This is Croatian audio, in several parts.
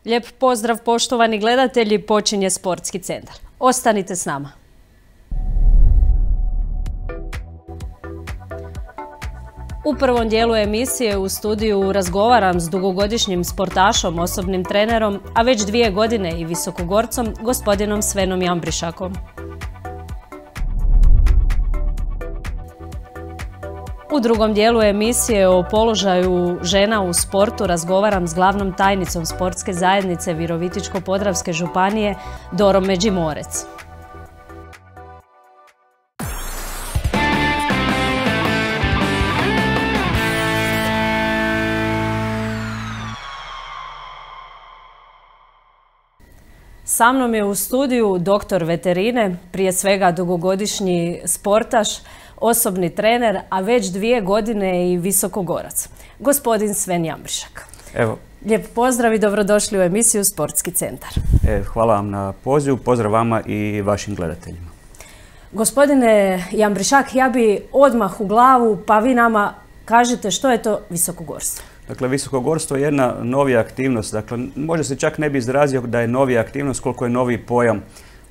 Lijep pozdrav poštovani gledatelji, počinje Sportski centar. Ostanite s nama. U prvom dijelu emisije u studiju razgovaram s dugogodišnjim sportašom, osobnim trenerom, a već 2 godine i visokogorcom, gospodinom Svenom Jambrišakom. U drugom dijelu emisije o položaju žena u sportu razgovaram s glavnom tajnicom Sportske zajednice Virovitičko-podravske županije Dorom Međimorec. Sa mnom je u studiju doktor veterine, prije svega dugogodišnji sportaš, osobni trener, a već 2 godine i visokogorac. Gospodin Sven Jambrišak. Evo. Lijep pozdrav i dobrodošli u emisiju Sportski centar. Hvala vam na pozivu, pozdrav vama i vašim gledateljima. Gospodine Jambrišak, ja bi odmah u glavu, pa vi nama kažete što je to visokogorstvo. Dakle, visokogorstvo je jedna novija aktivnost. Dakle, možda se čak ne bi izrazio da je novija aktivnost koliko je novi pojam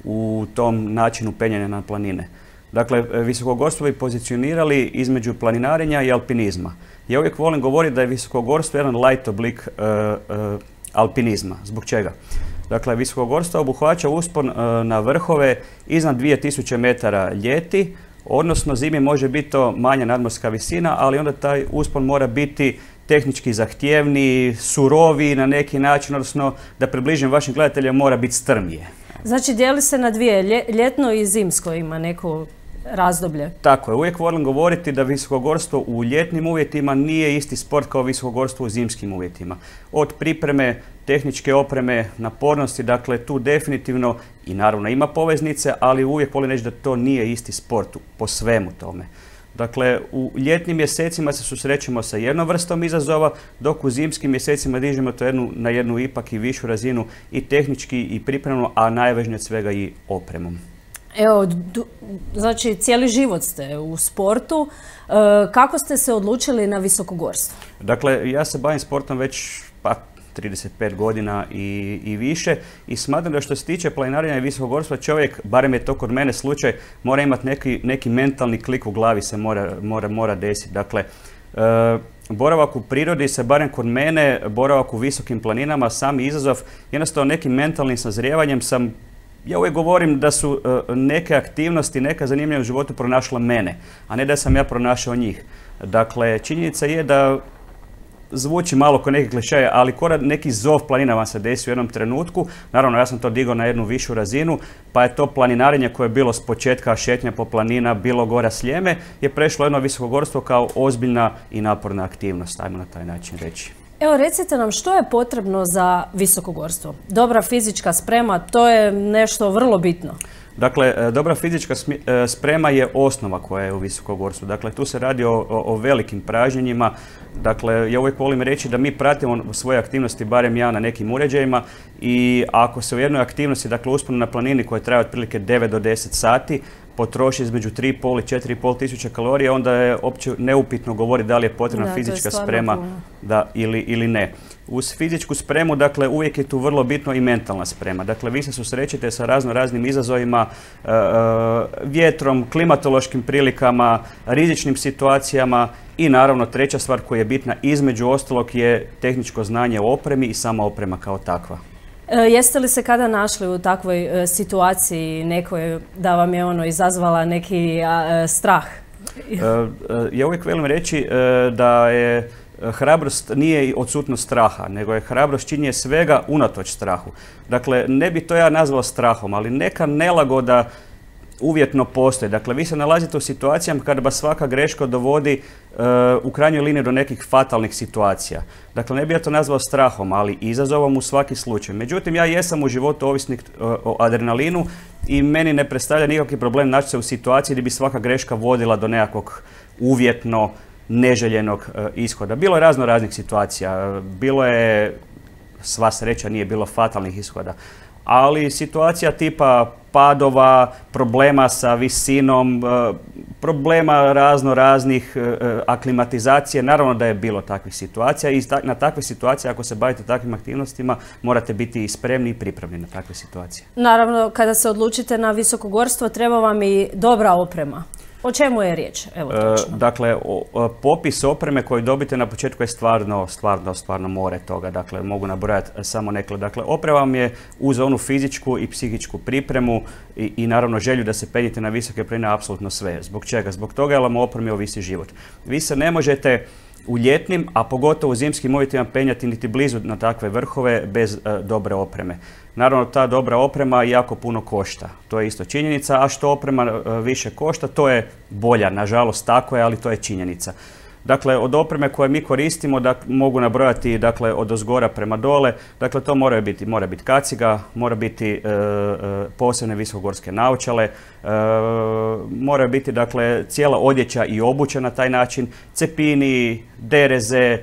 u tom načinu penjanja na planine. Dakle, visokogorstvo bi pozicionirali između planinarenja i alpinizma. Ja uvijek volim govoriti da je visokogorstvo jedan light oblik alpinizma. Zbog čega? Dakle, visokogorstvo obuhvaća uspon na vrhove iznad 2000 metara ljeti, odnosno zimi može biti to manja nadmorska visina, ali onda taj uspon mora biti tehnički zahtjevniji, suroviji na neki način, odnosno da približim vašim gledateljima mora biti strmije. Znači dijeli se na 2, ljetno i zimsko ima neko razdoblje. Tako je, uvijek volim govoriti da visokogorstvo u ljetnim uvjetima nije isti sport kao visokogorstvo u zimskim uvjetima. Od pripreme, tehničke opreme, napornosti, dakle tu definitivno i naravno ima poveznice, ali uvijek volim reći da to nije isti sport po svemu tome. Dakle, u ljetnim mjesecima se susrećemo sa jednom vrstom izazova, dok u zimskim mjesecima dižemo to na jednu ipak i višu razinu i tehnički i pripremno, a najvažnije od svega i opremom. Evo, znači cijeli život ste u sportu. Kako ste se odlučili na visokogorstvo? Dakle, ja se bavim sportom već 35 godina i više i smatram da što se tiče planinarenja i visokogorstva čovjek, barem je to kod mene slučaj, mora imati neki mentalni klik u glavi se mora desiti. Dakle, boravak u prirodi se, barem kod mene, boravak u visokim planinama, sami izazov, jednostavno nekim mentalnim sazrijevanjem ja uvijek govorim da su neke aktivnosti, neka zanimljiva u životu pronašla mene, a ne da sam ja pronašao njih. Dakle, činjenica je da zvuči malo kao neki klišej, ali neki zov planina vam se desi u jednom trenutku. Naravno, ja sam to digao na jednu višu razinu, pa je to planinarenje koje je bilo s početka šetnja po planina, bilo gora Sljeme, je prešlo jedno visokogorstvo kao ozbiljna i naporna aktivnost, ajmo na taj način reći. Evo, recite nam što je potrebno za visokogorstvo? Dobra fizička sprema, to je nešto vrlo bitno. Dakle, dobra fizička sprema je osnova koja je u visokogorstvu. Dakle, tu se radi o velikim pražnjenjima. Dakle, ja uvijek volim reći da mi pratimo svoje aktivnosti, barem ja, na nekim uređajima i ako se u jednoj aktivnosti, dakle usponu na planini koja traje otprilike 9 do 10 sati, potroši između 3,5 i 4,5 tisuća kalorija, onda je opće neupitno govoriti da li je potrebna fizička sprema ili ne. Uz fizičku spremu, dakle, uvijek je tu vrlo bitno i mentalna sprema. Dakle, vi se susrećete sa raznim izazovima, vjetrom, klimatološkim prilikama, rizičnim situacijama i naravno treća stvar koja je bitna između ostalog je tehničko znanje o opremi i sama oprema kao takva. Jeste li se kada našli u takvoj situaciji nekoj da vam je izazvala neki strah? Ja uvijek volim reći da je hrabrost nije odsutnost straha, nego je hrabrost činjenje svega unatoč strahu. Dakle, ne bi to ja nazvao strahom, ali neka nelagoda uvjetno postoji. Dakle, vi se nalazite u situacijama kada vas svaka greška dovodi u krajnjoj liniji do nekih fatalnih situacija. Dakle, ne bi ja to nazvao strahom, ali izazovom u svaki slučaj. Međutim, ja jesam u životu ovisnik o adrenalinu i meni ne predstavlja nikakvi problem naći se u situaciji gdje bi svaka greška vodila do nekakvog uvjetno neželjenog ishoda. Bilo je raznih situacija, bilo je, sva sreća nije bilo fatalnih ishoda, ali situacija tipa padova, problema sa visinom, problema raznih, aklimatizacije. Naravno da je bilo takvih situacija i na takve situacije, ako se bavite takvim aktivnostima, morate biti spremni i pripravni na takve situacije. Naravno, kada se odlučite na visokogorstvo, treba vam i dobra oprema. O čemu je riječ? Evo, točno. Dakle, popis opreme koju dobite na početku je stvarno more toga. Dakle, mogu nabrojati samo nekle. Dakle, oprema vam je uz onu fizičku i psihičku pripremu i naravno želju da se penjete na visoke planine apsolutno sve. Zbog čega? Zbog toga jer vam o opremi ovisi život. Vi se ne možete u ljetnim, a pogotovo u zimskim uvjetima penjati niti blizu na takve vrhove bez dobre opreme. Naravno, ta dobra oprema jako puno košta. To je isto činjenica, a što oprema više košta, to je bolja. Nažalost, tako je, ali to je činjenica. Dakle, od opreme koje mi koristimo, mogu nabrojati od ozgora prema dole. Dakle, to mora biti kaciga, mora biti posebne visokogorske naočale, mora biti cijela odjeća i obuća na taj način, cepini, dereze.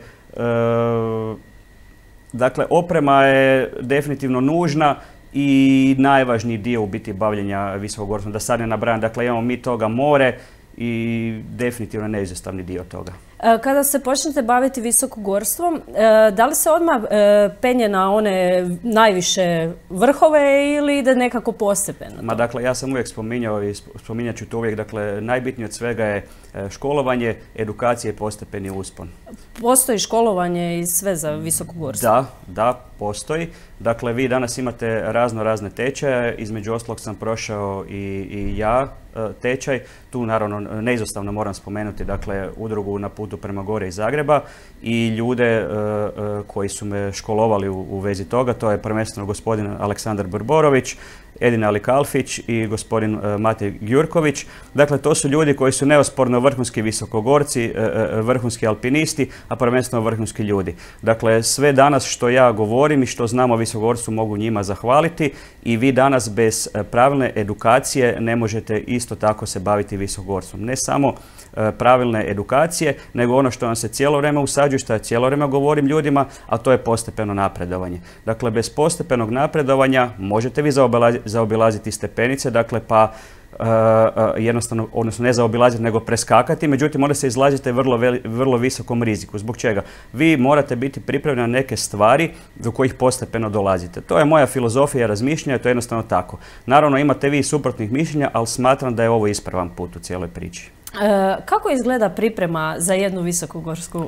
Dakle, oprema je definitivno nužna i najvažniji dio u biti bavljenja visokogorstvom. Da sad ne nabrajam, dakle, imamo mi toga more i definitivno neizostavni dio toga. Kada se počnete baviti visokogorstvom, da li se odmah penje na one najviše vrhove ili ide nekako postepeno? Dakle, ja sam uvijek spominjao i spominjat ću to uvijek, dakle, najbitnije od svega je školovanje, edukacija i postepeni uspon. Postoji školovanje i sve za visokogorstvo? Da, postoji. Dakle, vi danas imate razne tečaje, između ostalog sam prošao i ja tečaj. Tu naravno neizostavno moram spomenuti, dakle, udrugu Na putu prema gore iz Zagreba i ljude koji su me školovali u vezi toga. To je prvenstveno gospodin Aleksandar Brborović, Edina Alikalfić i gospodin Matej Gjurković. Dakle, to su ljudi koji su neosporno vrhunski visokogorci, vrhunski alpinisti, a prvenstveno vrhunski ljudi. Dakle, sve danas što ja govorim i što znam o visokogorstvu mogu njima zahvaliti i vi danas bez pravilne edukacije ne možete isto tako se baviti visokogorstvom. Ne samo pravilne edukacije, nego ono što vam se cijelo vrijeme usađuje, što ja cijelo vrijeme govorim ljudima, a to je postepeno napredovanje. Dakle, bez postepenog napredovanja možete vi zaobilaziti stepenice, dakle, pa jednostavno, odnosno ne zaobilaziti, nego preskakati, međutim onda se izlažete vrlo visokom riziku. Zbog čega? Vi morate biti pripravljeni na neke stvari do kojih postepeno dolazite. To je moja filozofija razmišljanja, to je jednostavno tako. Naravno, imate vi suprotnih mišljenja, ali smatram da je ovo ispravan put u cijeloj priči. Kako izgleda priprema za jednu visokogorsku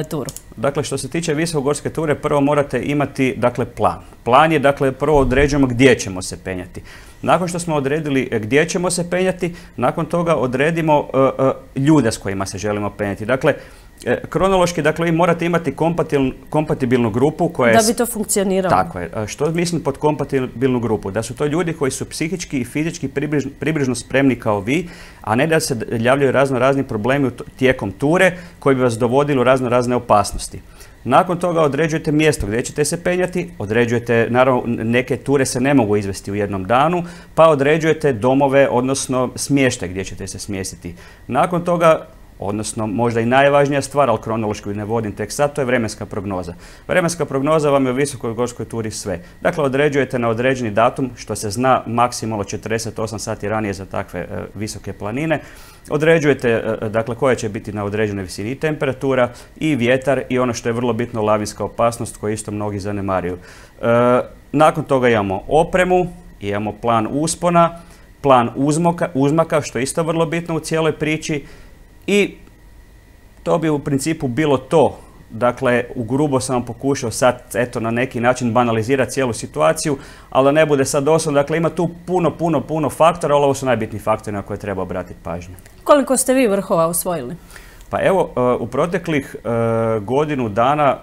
turu? Dakle, što se tiče visokogorske ture, prvo morate imati, dakle, plan. Plan je, dakle, prvo određujemo gdje ćemo se penjati. Nakon što smo odredili gdje ćemo se penjati, nakon toga odredimo ljude s kojima se želimo penjati. Dakle, kronološki, dakle, vi morate imati kompatibilnu grupu koja je... Da bi to funkcioniralo. Tako je. Što mislim pod kompatibilnu grupu? Da su to ljudi koji su psihički i fizički približno spremni kao vi, a ne da se javljaju razni problemi tijekom ture koji bi vas dovodili u razne opasnosti. Nakon toga određujete mjesto gdje ćete se penjati, određujete, naravno, neke ture se ne mogu izvesti u jednom danu, pa određujete domove, odnosno smještaj gdje ćete se smjestiti. Nakon toga, odnosno možda i najvažnija stvar, ali kronološki ne vodim tek sad, to je vremenska prognoza. Vremenska prognoza vam je u visokogorskoj turi sve. Dakle, određujete na određeni datum, što se zna maksimalno 48 sati ranije za takve visoke planine. Određujete, dakle, koja će biti na određenoj visini temperatura i vjetar i ono što je vrlo bitno, lavinska opasnost koju isto mnogi zanemaruju. Nakon toga imamo opremu, imamo plan uspona, plan uzmaka, što je isto vrlo bitno u cijeloj priči. I to bi u principu bilo to. Dakle, ugrubo sam vam pokušao sad, eto, na neki način banalizirati cijelu situaciju, ali da ne bude sad doslovno. Dakle, ima tu puno faktora, ali ovo su najbitniji faktori na koje treba obratiti pažnju. Koliko ste vi vrhova osvojili? Pa evo, u proteklih godinu dana,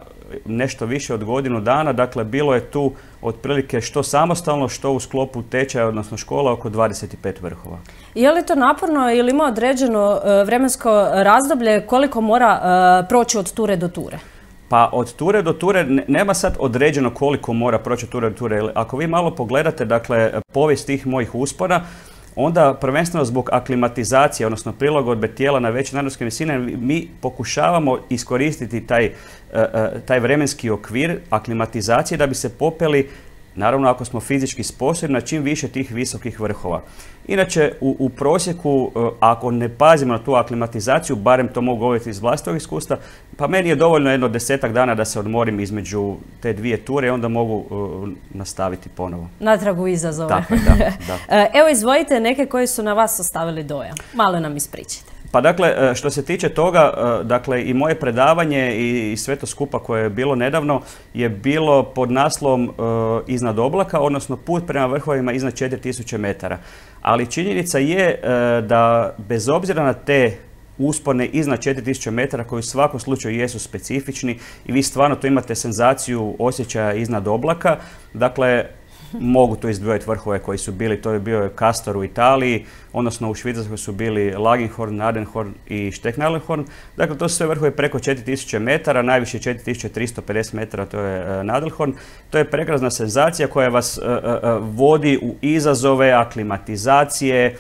nešto više od godinu dana, dakle, bilo je tu otprilike što samostalno, što u sklopu tečaja, odnosno škola, oko 25 vrhova. Je li to naporno ili ima određeno vremensko razdoblje koliko mora proći od ture do ture? Pa od ture do ture nema sad određeno koliko mora proći od ture do ture. Ako vi malo pogledate, dakle, povijest tih mojih uspona, onda prvenstveno zbog aklimatizacije, odnosno prilagodbe tijela na veće nadmorske visine, mi pokušavamo iskoristiti taj vremenski okvir aklimatizacije da bi se popeli Naravno, ako smo fizički sposobni na čim više tih visokih vrhova. Inače, u prosjeku, ako ne pazimo na tu aklimatizaciju, barem to mogu govoriti iz vlastitog iskustva, pa meni je dovoljno jedno 10-ak dana da se odmorim između te dvije ture i onda mogu nastaviti ponovo. Natrag u izazove. Tako je, da. Evo, izvojite neke koji su na vas ostavili dojam. Malo nam ispričajte. Pa dakle, što se tiče toga, dakle i moje predavanje i sve to skupa koje je bilo nedavno je bilo pod naslovom Iznad oblaka, odnosno put prema vrhovima iznad 4000 metara. Ali činjenica je da bez obzira na te uspone iznad 4000 metara koji u svakom slučaju jesu specifični i vi stvarno tu imate senzaciju osjećaja iznad oblaka, dakle mogu tu izdvojiti vrhove koji su bili, to je bio Castor u Italiji, odnosno u Švicarskoj su bili Lagenhorn, Nadenhorn i Stecknalenhorn. Dakle, to su sve vrhove preko 4000 metara, najviše 4350 metara, to je Nadelhorn. To je prekrasna senzacija koja vas vodi u izazove, aklimatizacije,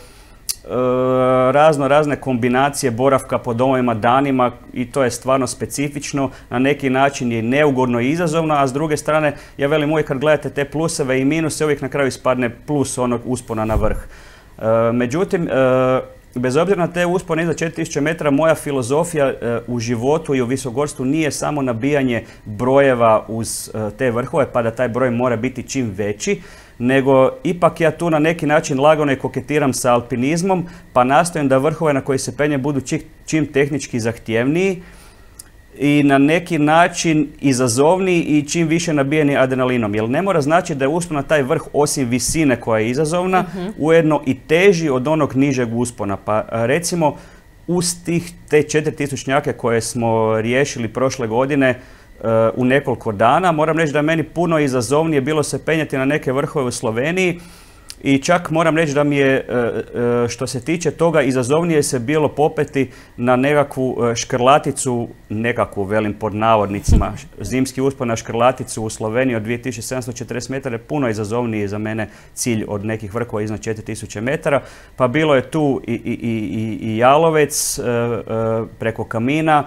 razne kombinacije boravka po domovima danima i to je stvarno specifično, na neki način je neugodno i izazovno, a s druge strane, ja velim uvijek kad gledate te pluseve i minuse, uvijek na kraju ispadne plus onog uspona na vrh. Međutim, bez obzira na te uspone iznad 4000 metara, moja filozofija u životu i u visokogorstvu nije samo nabijanje brojeva uz te vrhove, pa da taj broj mora biti čim veći, nego ipak ja tu na neki način lagano i koketiram sa alpinizmom, pa nastojim da vrhove na koji se penje budu čim tehnički zahtjevniji i na neki način izazovniji i čim više nabijeni adrenalinom. Jer ne mora znači da je uspon na taj vrh osim visine koja je izazovna, ujedno i teži od onog nižeg uspona. Pa recimo uz te 4000 koje smo riješili prošle godine, u nekoliko dana. Moram reći da je meni puno izazovnije bilo se penjati na neke vrhove u Sloveniji i čak moram reći da mi je, što se tiče toga, izazovnije se bilo popeti na nekakvu škrlaticu, velim pod navodnicima, zimski uspon na škrlaticu u Sloveniji od 2740 metara je puno izazovniji za mene cilj od nekih vrhova iznad 4000 metara. Pa bilo je tu i Jalovec preko Kamina,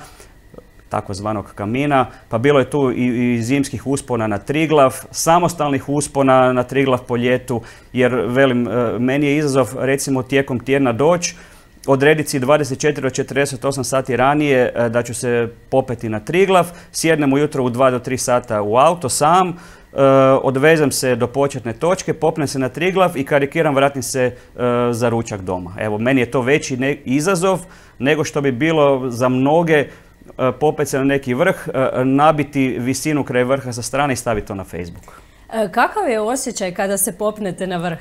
takozvanog Kamina, pa bilo je tu i zimskih uspona na Triglav, samostalnih uspona na Triglav po ljetu, jer velim, meni je izazov recimo tijekom tjedna doći, odrediti si 24 do 48 sati ranije da ću se popeti na Triglav, sjednem ujutro u 2 do 3 sata u auto sam, odvezem se do početne točke, popnem se na Triglav i karikiram, vratim se za ručak doma. Evo, meni je to veći izazov nego što bi bilo za mnoge popet se na neki vrh, nabiti visinu kraj vrha sa strane i staviti to na Facebook. Kakav je osjećaj kada se popnete na vrh?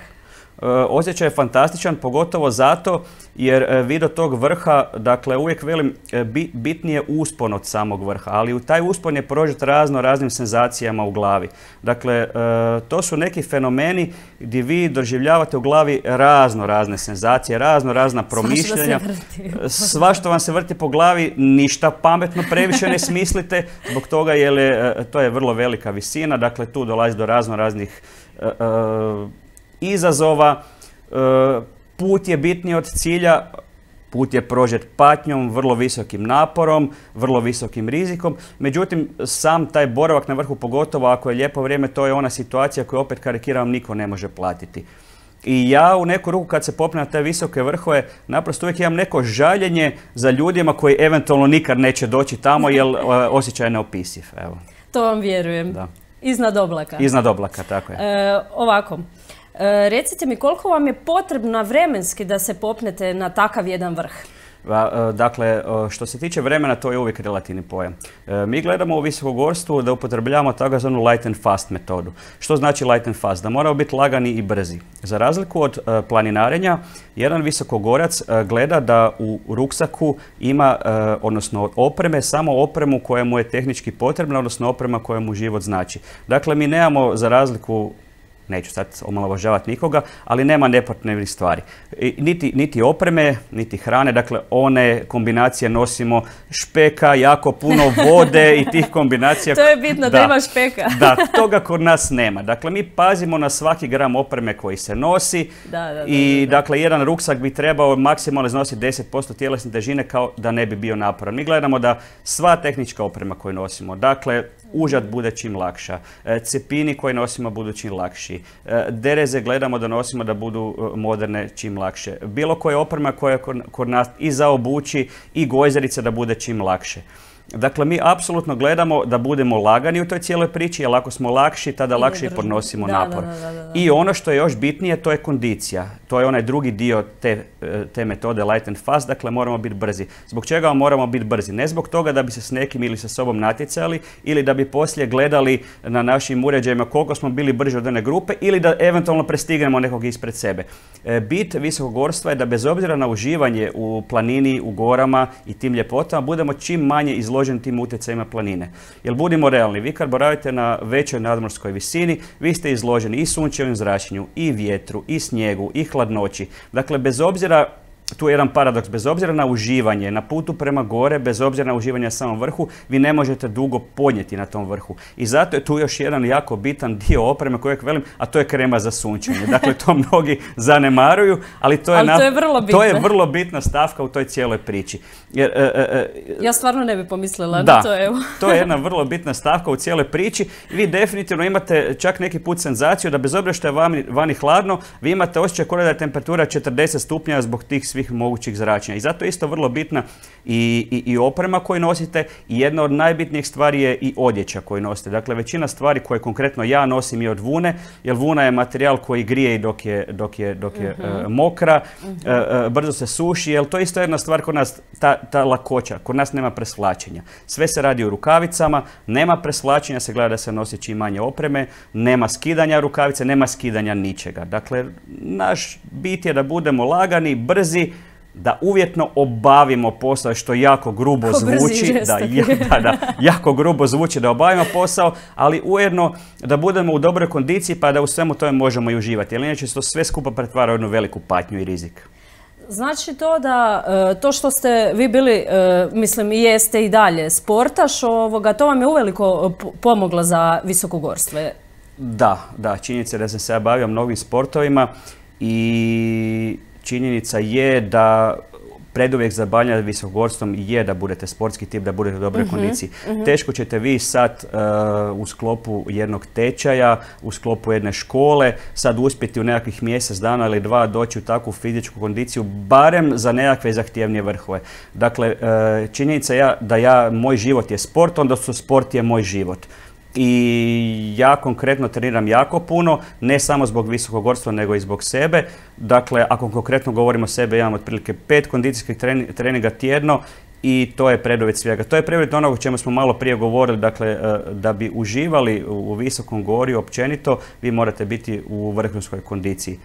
Osjećaj je fantastičan, pogotovo zato jer vi do tog vrha, dakle uvijek velim, bitnije uspon od samog vrha, ali u taj uspon je prožet raznim senzacijama u glavi. Dakle, to su neki fenomeni gdje vi doživljavate u glavi razne senzacije, razna promišljanja. Svašta vam se vrti po glavi, ništa pametno previše ne smislite, zbog toga jer to je vrlo velika visina, dakle tu dolazi do raznih izazova, put je bitniji od cilja, put je prožet patnjom, vrlo visokim naporom, vrlo visokim rizikom. Međutim, sam taj boravak na vrhu, pogotovo ako je lijepo vrijeme, to je ona situacija koju opet karikiram niko ne može platiti. I ja u neku ruku kad se popnem na te visoke vrhove, naprosto uvijek imam neko žaljenje za ljudima koji eventualno nikad neće doći tamo jer osjećaj je neopisiv. Evo. To vam vjerujem. Da. Iznad oblaka. Iznad oblaka, tako je. Ovako. Recite mi, koliko vam je potrebno vremenski da se popnete na takav jedan vrh? Dakle, što se tiče vremena, to je uvijek relativni pojam. Mi gledamo u visokogorstvu da upotrebljavamo takozvanu light and fast metodu. Što znači light and fast? Da moramo biti lagani i brzi. Za razliku od planinarenja, jedan visokogorac gleda da u ruksaku ima, odnosno od opreme, samo opremu koja mu je tehnički potrebna, odnosno oprema koja mu život znači. Dakle, mi nemamo, za razliku, neću sad omalovažavati nikoga, ali nema nepotrebnih stvari. Niti opreme, niti hrane, dakle one kombinacije nosimo, špeka, jako puno vode i tih kombinacija. To je bitno da ima špeka. Da, toga kod nas nema. Dakle, mi pazimo na svaki gram opreme koji se nosi i dakle, jedan ruksak bi trebao maksimalno iznositi 10% tjelesne težine kao da ne bi bio naporan. Mi gledamo da sva tehnička oprema koju nosimo, dakle, užad bude čim lakša, cepini koje nosimo budu čim lakši, dereze gledamo da nosimo da budu moderne čim lakše, bilo koja oprema koja kod nas i za obući i gojzerice da bude čim lakše. Dakle, mi apsolutno gledamo da budemo lagani u toj cijeloj priči, jer ako smo lakši, tada lakše i podnosimo napor. I ono što je još bitnije, to je kondicija. To je onaj drugi dio te metode light and fast, dakle moramo biti brzi. Zbog čega moramo biti brzi? Ne zbog toga da bi se s nekim ili sa sobom natjecali ili da bi poslije gledali na našim uređajima koliko smo bili brži od one grupe ili da eventualno prestignemo nekog ispred sebe. Bit visokogorstva je da bez obzira na uživanje u planini, u gorama i tim ljepotama budemo čim manje izloženi tim utjecajima planine. Jer budimo realni, vi kad boravite na većoj nadmorskoj visini, vi ste izloženi i sunčevim zračenju, i vjetru, i snijegu, i hladnoći. Dakle, bez obzira, tu je jedan paradoks, bez obzira na uživanje, na putu prema gore, bez obzira na uživanje na samom vrhu, vi ne možete dugo podnijeti na tom vrhu. I zato je tu još jedan jako bitan dio opreme kojeg velim, a to je krema za sunčanje. Dakle, to mnogi zanemaruju, ali to je vrlo bitna stavka u toj cijeloj priči. Jer, ja stvarno ne bi pomislila na to, evo. To je jedna vrlo bitna stavka u cijeloj priči. Vi definitivno imate čak neki put senzaciju da bez obzira što je vani hladno, vi imate osjećaj kao da je temperatura 40 stupnjeva zbog tih svih mogućih zračenja. I zato je isto vrlo bitna i oprema koju nosite i jedna od najbitnijih stvari je i odjeća koju nosite. Dakle, većina stvari koje konkretno ja nosim je od vune, jer vuna je materijal koji grije i dok je mokra, brzo se suši, jer to je isto jedna stvar kod nas, ta lakoća. Kod nas nema presvlačenja. Sve se radi u rukavicama, nema presvlačenja, se gleda da se nosi čim manje opreme, nema skidanja rukavice, nema skidanja ničega. Dakle, naš bit je da budemo lagani, brzi, da uvjetno obavimo posao, što jako grubo zvuči, jako grubo zvuči da obavimo posao, ali ujedno da budemo u dobroj kondiciji pa da u svemu tome možemo i uživati, jer inače se to sve skupa pretvara u jednu veliku patnju i rizik. Znači to da, to što ste vi bili, mislim i jeste i dalje sportaš, to vam je uveliko pomoglo za visokogorstvo? Da, činjenica je da sam se ja bavio mnogim sportovima i činjenica je da preduvijek za bavljanje visokogorstvom je da budete sportski tip, da budete u dobroj kondiciji. Teško ćete vi sad u sklopu jednog tečaja, u sklopu jedne škole, sad uspjeti u nekakvih mjesec dana ili dva doći u takvu fizičku kondiciju, barem za nekakve zahtjevnije vrhove. Dakle, činjenica je da moj život je sport, onda sport je moj život. I ja konkretno treniram jako puno, ne samo zbog visokogorstva nego i zbog sebe. Dakle, ako konkretno govorimo o sebe, imam otprilike 5 kondicijskih treninga tjedno i to je preduvjet svega. To je preduvjet onoga o čemu smo malo prije govorili, dakle, da bi uživali u visokom gorju općenito, vi morate biti u vrhunskoj kondiciji.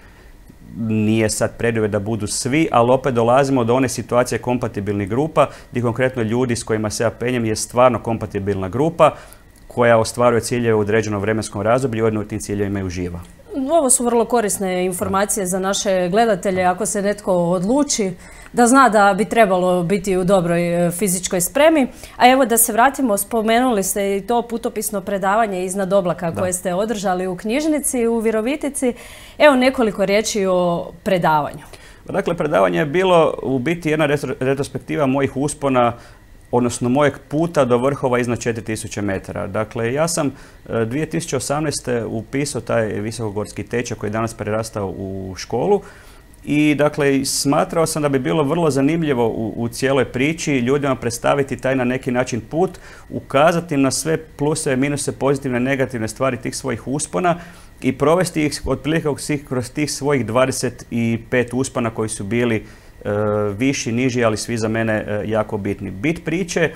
Nije sad preduvjet da budu svi, ali opet dolazimo do one situacije kompatibilnih grupa, gdje konkretno ljudi s kojima se ja penjem je stvarno kompatibilna grupa, koja ostvaruje ciljeve u određenom vremenskom razdoblju i ujedno u tim ciljevima i uživa. Ovo su vrlo korisne informacije za naše gledatelje ako se netko odluči da zna da bi trebalo biti u dobroj fizičkoj spremi. A evo da se vratimo, spomenuli ste i to putopisno predavanje iznad oblaka koje ste održali u knjižnici u Virovitici. Evo nekoliko riječi o predavanju. Dakle, predavanje je bilo u biti jedna retrospektiva mojih uspona, odnosno mojeg puta do vrhova iznad 4000 metara. Dakle, ja sam 2018. upisao taj visokogorski tečaj koji je danas prerastao u školu i dakle, smatrao sam da bi bilo vrlo zanimljivo u cijeloj priči ljudima predstaviti taj na neki način put, ukazati na sve pluseve, minuse, pozitivne, negativne stvari tih svojih uspona i provesti ih otprilike kroz tih svojih 25 uspona koji su bili viši, niži, ali svi za mene jako bitni. Bit priče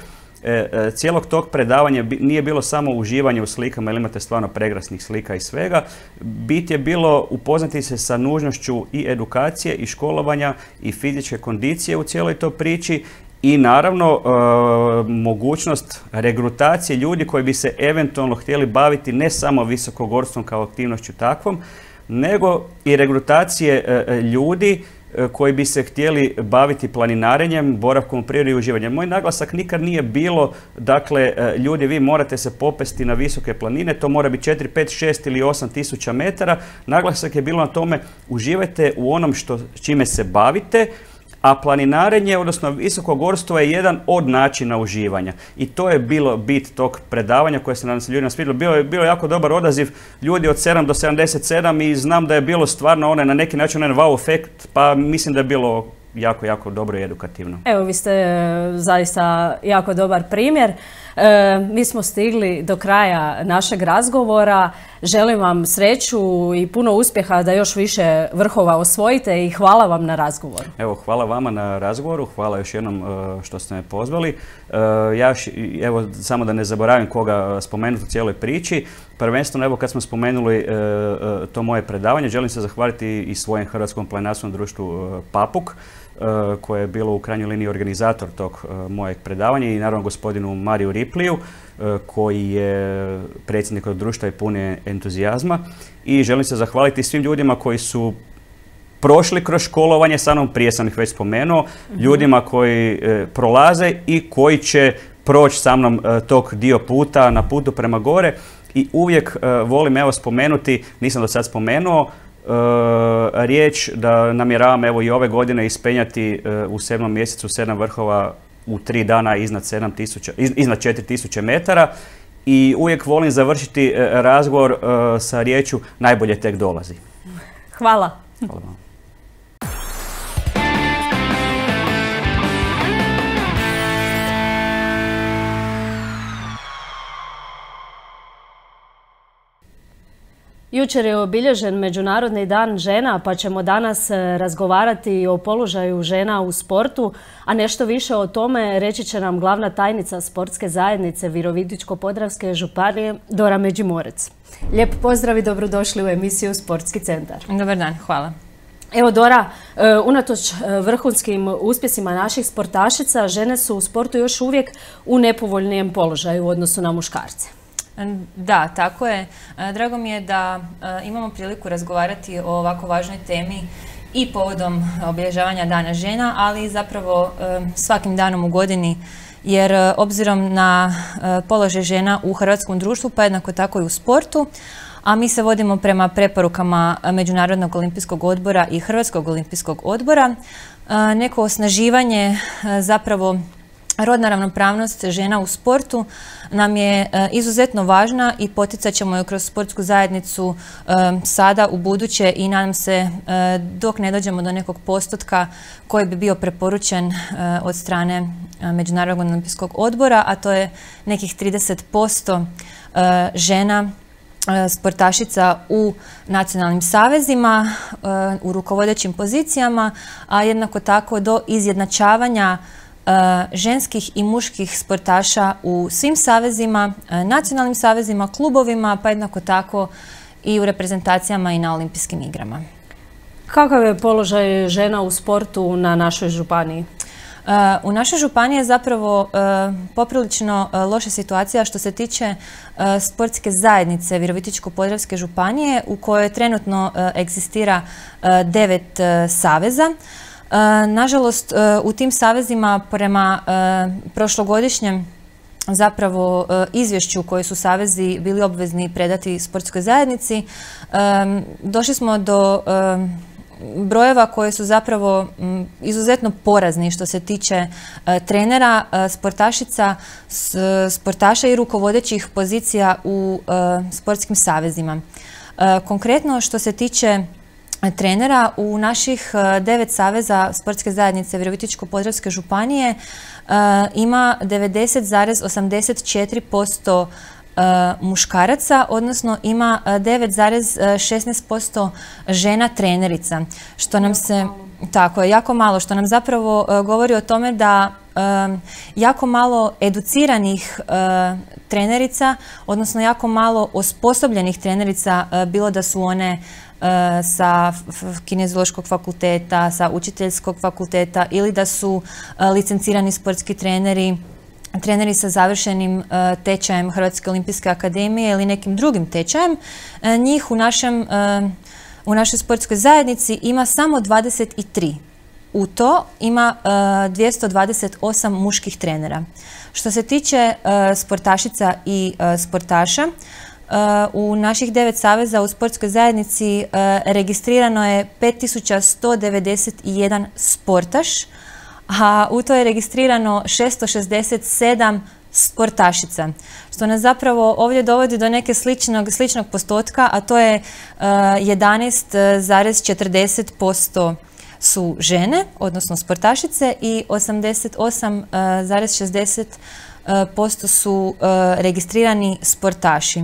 cijelog tog predavanja nije bilo samo uživanje u slikama, jer imate stvarno prekrasnih slika i svega. Bit je bilo upoznati se sa nužnošću i edukacije i školovanja i fizičke kondicije u cijeloj toj priči i naravno mogućnost regrutacije ljudi koji bi se eventualno htjeli baviti ne samo visokogorstvom kao aktivnošću takvom, nego i regrutacije ljudi koji bi se htjeli baviti planinarenjem, boravkom u prirodi i uživanjem. Moj naglasak nikad nije bilo, dakle, ljudi, vi morate se popesti na visoke planine, to mora biti 4, 5, 6 ili 8 tisuća metara. Naglasak je bilo na tome, uživajte u onom čime se bavite, A planinarenje, odnosno visokogorstvo je jedan od načina uživanja. I to je bilo bit tog predavanja koje se nadam se ljudima svidjelo. Bio je jako dobar odaziv ljudi od 7 do 77 i znam da je bilo stvarno na neki način wow efekt, pa mislim da je bilo jako, jako dobro i edukativno. Evo, vi ste zaista jako dobar primjer. Mi smo stigli do kraja našeg razgovora. Želim vam sreću i puno uspjeha da još više vrhova osvojite i hvala vam na razgovoru. Evo, hvala vama na razgovoru, hvala još jednom što ste me pozvali. Evo, samo da ne zaboravim koga spomenuti u cijeloj priči. Prvenstveno, evo, kad smo spomenuli to moje predavanje, želim se zahvaliti i svojem Hrvatskom planinarskom društvu Papuk, koje je bilo u krajnjoj liniji organizator tog mojeg predavanja, i naravno gospodinu Mariju Ripliju, koji je predsjednik od društva i pun je entuzijazma. I želim se zahvaliti svim ljudima koji su prošli kroz školovanje sa mnom, prije sam ih već spomenuo, ljudima koji prolaze i koji će proći sa mnom tog dio puta, na putu prema gore. I uvijek volim evo spomenuti, nisam do sad spomenuo, riječ da namjeravam evo i ove godine ispenjati u 7. mjesecu 7 vrhova u 3 dana iznad 4000 metara, i uvijek volim završiti razgovor sa riječju najbolje tek dolazi. Hvala. Hvala vam. Jučer je obilježen Međunarodni dan žena, pa ćemo danas razgovarati o položaju žena u sportu, a nešto više o tome reći će nam glavna tajnica Sportske zajednice Virovitičko-podravske županije Dora Međimorec. Lijep pozdrav i dobrodošli u emisiju Sportski centar. Dobar dan, hvala. Evo Dora, unatoč vrhunskim uspjesima naših sportašica, žene su u sportu još uvijek u nepovoljnijem položaju u odnosu na muškarce. Da, tako je. Drago mi je da imamo priliku razgovarati o ovako važnoj temi i povodom obilježavanja Dana žena, ali i zapravo svakim danom u godini, jer obzirom na položaj žena u hrvatskom društvu, pa jednako tako i u sportu, a mi se vodimo prema preporukama Međunarodnog olimpijskog odbora i Hrvatskog olimpijskog odbora, neko osnaživanje, zapravo rodna ravnopravnost žena u sportu nam je izuzetno važna i poticat ćemo ju kroz sportsku zajednicu sada, u buduće, i nadam se dok ne dođemo do nekog postotka koji bi bio preporučen od strane Međunarodnog olimpijskog odbora, a to je nekih 30% žena sportašica u nacionalnim savezima, u rukovodećim pozicijama, a jednako tako do izjednačavanja ženskih i muških sportaša u svim savezima, nacionalnim savezima, klubovima, pa jednako tako i u reprezentacijama i na olimpijskim igrama. Kakav je položaj žena u sportu na našoj županiji? U našoj županiji je zapravo poprilično loša situacija što se tiče sportske zajednice Virovitičko-podravske županije, u kojoj trenutno egzistira 9 saveza. Nažalost, u tim savezima prema prošlogodišnjem zapravo izvješću koje su savezi bili obvezni predati sportskoj zajednici, došli smo do brojeva koje su zapravo izuzetno porazni što se tiče trenera, sportašica, sportaša i rukovodećih pozicija u sportskim savezima. Konkretno što se tiče trenera, u naših 9 saveza Sportske zajednice Virovitičko-podravske županije ima 90,84% muškaraca, odnosno ima 9,16% žena trenerica, što nam se, tako je, jako malo, što nam zapravo govori o tome da jako malo educiranih trenerica, odnosno jako malo osposobljenih trenerica, bilo da su one sa kineziološkog fakulteta, sa učiteljskog fakulteta ili da su licencirani sportski treneri, treneri sa završenim tečajem Hrvatske olimpijske akademije ili nekim drugim tečajem. Njih u našoj sportskoj zajednici ima samo 23. U to ima 228 muških trenera. Što se tiče sportašica i sportaša, u naših 9 saveza u sportskoj zajednici registrirano je 5191 sportaš, a u to je registrirano 667 sportašica, što nas zapravo ovdje dovodi do neke sličnog postotka, a to je 11,40% su žene, odnosno sportašice, i 88,60% su registrirani sportaši.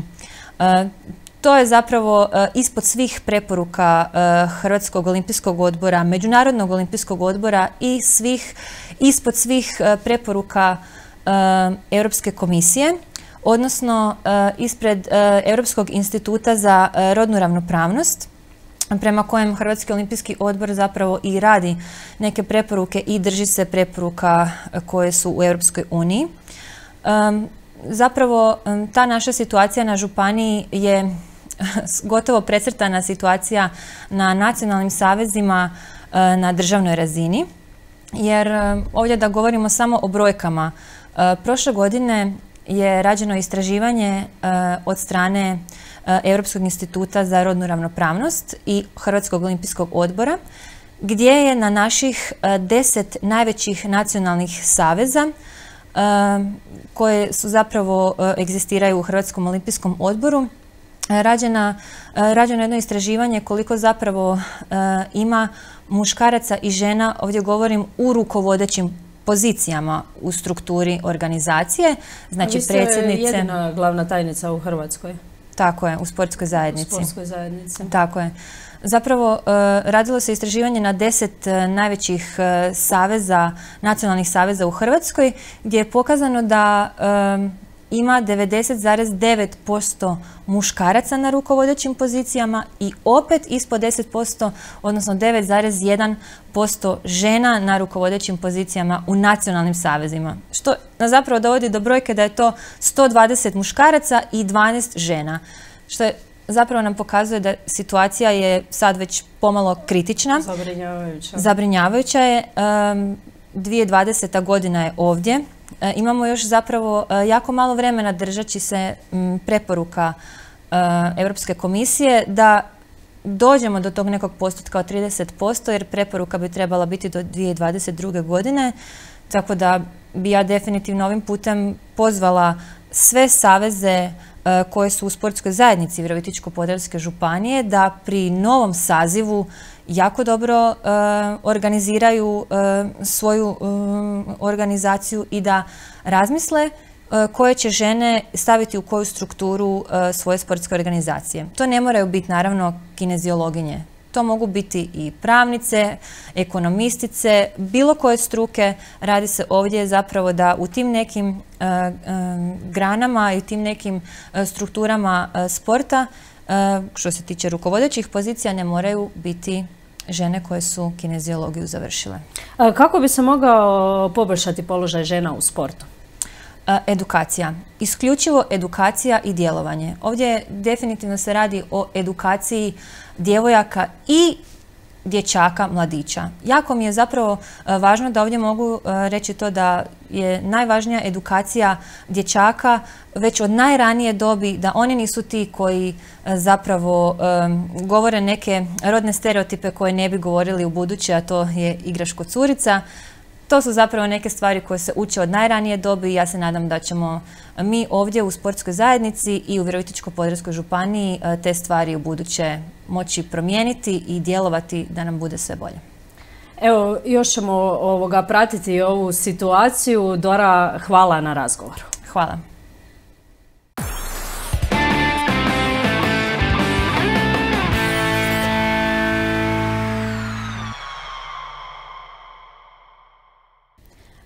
To je zapravo ispod svih preporuka Hrvatskog olimpijskog odbora, Međunarodnog olimpijskog odbora i ispod svih preporuka Europske komisije, odnosno ispred Europskog instituta za rodnu ravnopravnost, prema kojem Hrvatski olimpijski odbor zapravo i radi neke preporuke i drži se preporuka koje su u Europskoj uniji. Zapravo ta naša situacija na županiji je gotovo precrtana situacija na nacionalnim savezima na državnoj razini, jer ovdje da govorimo samo o brojkama, prošle godine je rađeno istraživanje od strane Europskog instituta za rodnu ravnopravnost i Hrvatskog olimpijskog odbora, gdje je na naših 10 najvećih nacionalnih saveza koje su zapravo egzistiraju u Hrvatskom olimpijskom odboru, rađeno jedno istraživanje koliko zapravo ima muškaraca i žena, ovdje govorim u rukovodećim pozicijama u strukturi organizacije, znači predsjednice. Vi ste jedina glavna tajnica u Hrvatskoj. Tako je, u sportskoj zajednici. U sportskoj zajednici. Tako je. Zapravo, radilo se istraživanje na 10 najvećih saveza, nacionalnih saveza u Hrvatskoj, gdje je pokazano da ima 90,9% muškaraca na rukovodećim pozicijama i opet ispod 10%, odnosno 9,1% žena na rukovodećim pozicijama u nacionalnim savezima. Što nas zapravo dovodi do brojke da je to 120 muškaraca i 12 žena. Što je zapravo nam pokazuje da situacija je sad već pomalo kritična. Zabrinjavajuća. Zabrinjavajuća je. 2020. godina je ovdje. Imamo još zapravo jako malo vremena držeći se preporuka Europske komisije da dođemo do tog nekog postotka od 30%, jer preporuka bi trebala biti do 2022. godine. Tako da bi ja definitivno ovim putem pozvala sve saveze koje su u sportskoj zajednici Virovitičko-podravske županije da pri novom sazivu jako dobro organiziraju svoju organizaciju i da razmisle koje će žene staviti u koju strukturu svoje sportske organizacije. To ne moraju biti naravno kineziologinje. To mogu biti i pravnice, ekonomistice, bilo koje struke. Radi se ovdje zapravo da u tim nekim granama i tim nekim strukturama sporta, što se tiče rukovodećih pozicija, ne moraju biti žene koje su kineziologiju završile. Kako bi se mogao poboljšati položaj žena u sportu? Edukacija. Isključivo edukacija i djelovanje. Ovdje definitivno se radi o edukaciji djevojaka i dječaka, mladića. Jako mi je zapravo važno da ovdje mogu reći to da je najvažnija edukacija dječaka već od najranije dobi, da oni nisu ti koji zapravo govore neke rodne stereotipe koje ne bi govorili u buduće, a to je igraš ko curica. To su zapravo neke stvari koje se uče od najranije dobi i ja se nadam da ćemo mi ovdje u sportskoj zajednici i u Virovitičko-podravskoj županiji te stvari u buduće moći promijeniti i djelovati da nam bude sve bolje. Evo, još ćemo pratiti ovu situaciju. Dora, hvala na razgovoru. Hvala.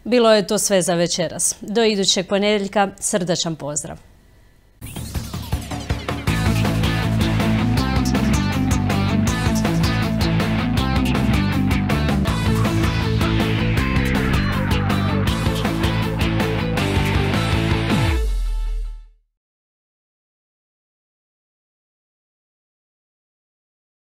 Bilo je to sve za večeras. Do idućeg ponedjeljka srdačan pozdrav.